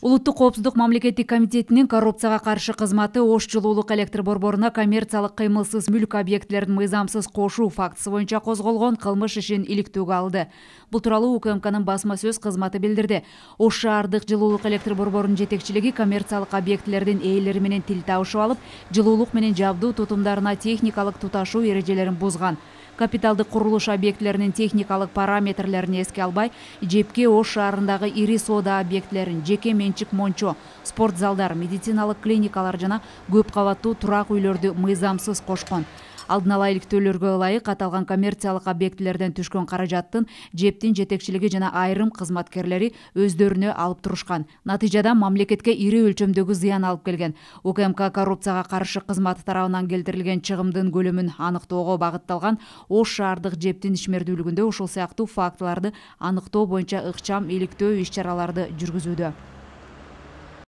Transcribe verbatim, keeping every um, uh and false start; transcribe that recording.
Улуттук коопсуздук мамлекеттик комитетинин коррупцияга каршы кызматы Ош жылуулук электр борборуна коммерциялык кыймылсыз мүлк объектилерин мыйзамсыз кошуу фактысы боюнча козголгон кылмыш ишин иликтөөгө алды. Бул тууралуу УКМКнын басма сөз кызматы билдирди. Ош шаардык жылуулук электр борборунун жетекчилиги коммерциялык объектилердин ээлери менен тил табышып алып, жылуулук менен жабдуу тутумдарына техникалык туташуу эрежелерин бузган. Капиталдык курулуш объектилеринин техникалык параметрлерин эске албай, жепке Ош шаарындагы ири соода объектилерин, жеке менчик мончо, спорт залдар, медициналык клиникалар жана көп кабаттуу турак үйлөрдү мыйзамсыз кошкон. Алдын ала иликтөөлөргө ылайык аталган коммерциялык объектилерден түшкөн каражаттын жептин жетекчилиги жана айрым кызматкерлери өздөрүнө алып турушкан. Натыйжада мамлекетке ири өлчөмдөгү зыян алып келген. УКМК коррупцияга каршы кызматы тарабынан келтирилген чыгымдын көлөмүн аныктоого багытталган Ош шаардык жептин ишмердүүлүгүндө ушул сыяктуу фактыларды аныктоо боюнча ыкчам иликтөө иш-чараларды жүргүзүүдө.